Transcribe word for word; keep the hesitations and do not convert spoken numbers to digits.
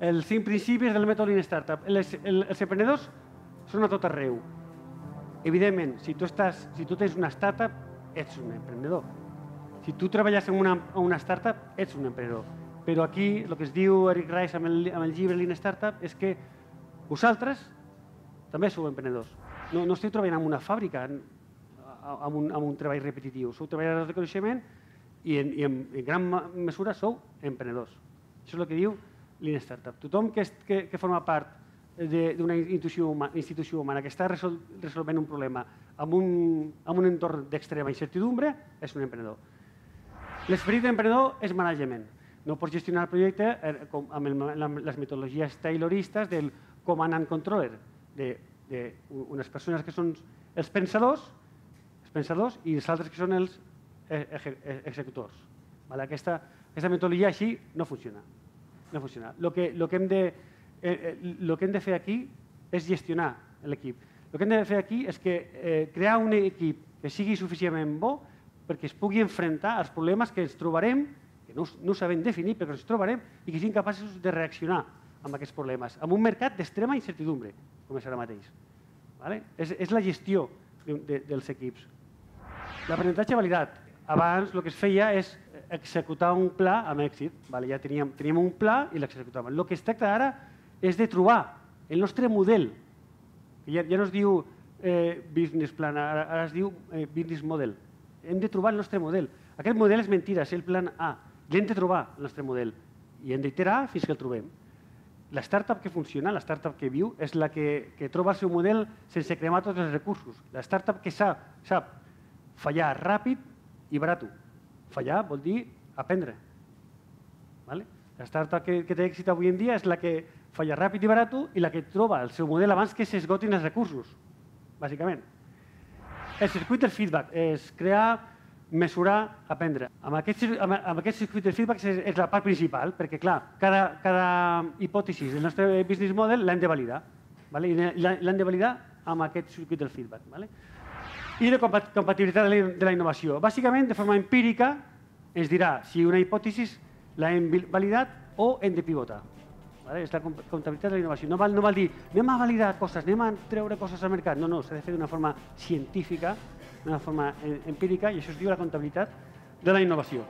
els cinc principis del mètode Lean Startup. Els, els emprenedors són a tot arreu. Evidentment, si tu, estàs, si tu tens una startup, ets un emprenedor. Si tu treballes en una, en una startup, ets un emprenedor. Però aquí, el que es diu Eric Rice amb el, amb el llibre Lean Startup és que vosaltres també sou emprenedors. No, no esteu treballant en una fàbrica, en, amb, un, amb un treball repetitiu. Sou treballadors de coneixement i en, i en, en gran mesura sou emprenedors. Això és el que diu Lean Startup. Tothom que, est, que, que forma part d'una institució, huma, institució humana que està resol, resolvent un problema amb un, amb un entorn d'extrema incertidumbre és un emprenedor. L'esperit d'emprenedor és management. No pots gestionar el projecte eh, com, amb, el, amb les metodologies tayloristes del command and controller, d'unes persones que són els pensadors, els pensadors i els altres que són els executors. Vale? Aquesta, aquesta metodologia així no funciona. No funciona. Lo que, lo que hem de, eh, lo que hem de fer aquí és gestionar l'equip. El que hem de fer aquí és que, eh, crear un equip que sigui suficientment bo perquè es pugui enfrontar als problemes que ens trobarem, que no, no sabem definir, però que ens trobarem i que siguin capaços de reaccionar amb aquests problemes, amb un mercat d'extrema incertidumbre, com és ara mateix. Vale? És, és la gestió de, de, dels equips. L'aprenentatge validat. Abans el que es feia és executar un pla amb èxit. Vale? Ja teníem, teníem un pla i l'executàvem. El que es tracta ara és de trobar el nostre model, que ja, ja no es diu eh, business plan, ara, ara es diu eh, business model. Hem de trobar el nostre model. Aquest model és mentira, és el plan A. I hem de trobar el nostre model. I hem d'iterar fins que el trobem. La startup que funciona, la startup que viu, és la que, que troba el seu model sense cremar tots els recursos. La startup que sap, sap fallar ràpid i barat. Fallar vol dir aprendre. Vale? La startup que, que té èxit avui en dia és la que falla ràpid i barat i la que troba el seu model abans que s'esgotin els recursos, bàsicament. El circuit del feedback és crear, mesurar, aprendre. Amb aquest, amb, amb aquest circuit del feedback és, és la part principal, perquè, clar, cada, cada hipòtesi del nostre business model l'hem de validar. Vale? I l'hem de validar amb aquest circuit del feedback. Vale? I la compatibilitat de la innovació. Bàsicament, de forma empírica, ens dirà si una hipòtesi l'hem validat o hem de pivotar. Vale? És la compatibilitat de la innovació. No val, no val dir, anem a validar coses, anem a treure coses al mercat. No, no, s'ha de fer d'una forma científica, d'una forma empírica, i això es diu la compatibilitat de la innovació.